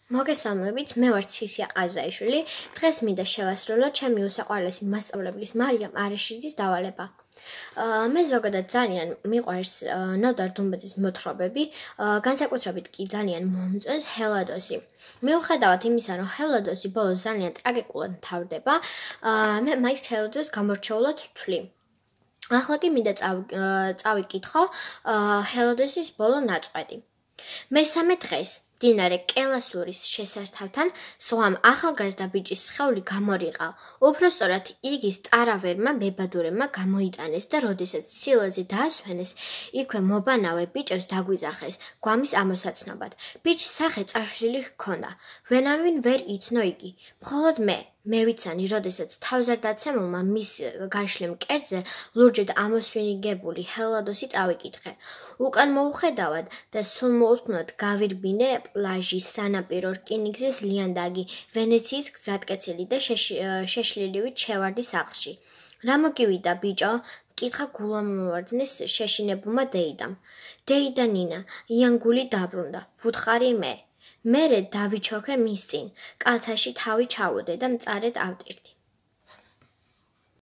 მოგესალმებით, მე ვარ ცისია ყაზაიშვილი. დღეს მინდა შევასრულო ჩემი უსაყვარლესი მასწავლებლის მარიამ არეშიძის დავალება. მე ზოგადად ძალიან მიყვარს ნოდარ დუმბაძის მოთხრობები, განსაკუთრებით კი ძალიან მომწონს ჰელადოსი. მიუხედავად იმისა, რომ ჰელადოსი ბოლოს ძალიან ტრაგიკულად მთავრდება, მე მაინც ჰელადოსს გამორჩეულად ვთვლი. ახლა კი მინდა წავიკითხო ჰელადოსის ბოლო ნაწყვეტი. მესამე დღეს მდინარე კელასურის შესართავთან სვამ ახალგაზრდა ბიჭის სხეული გამორიყა. უпростоრად იგი სტარავერმა მებადურებმა გამოიტანეს და როდესაც სილაზე დაასვენეს, იქვე მობანავე ბიჭებს დაგვიძახეს გვამის ამოსაცნობად. ბიჭს სახე წაშლილი ჰქონდა. ვენამინ ვერ იცნო იგი. მხოლოდ მე ვიცანი, როდესაც თავზარდაცემულმა მის გაშლილ მკერდზე ლურჯად ამოსვინგებული ჰელადოსი წავიკითხე. უკან მოუხედავად და სულ მოუთმნოდ გავირბინე პლაჟის სანაპირო რკინიგზის ლიანდაგი, ვენეციის გზატკეცილი და შეშლილივით შევარდი სახლში. რა მოგივიდა, ბიჭო? მკითხა გულამოვარდნის შეშინებულმა დეიდამ. დეიდა ნინა, იანგული დაბრუნდა, ვუთხარი მე. მერე დავიჩოქე მის წინ, კალთაში თავი ჩავუდე და მწარედ ავტირდი.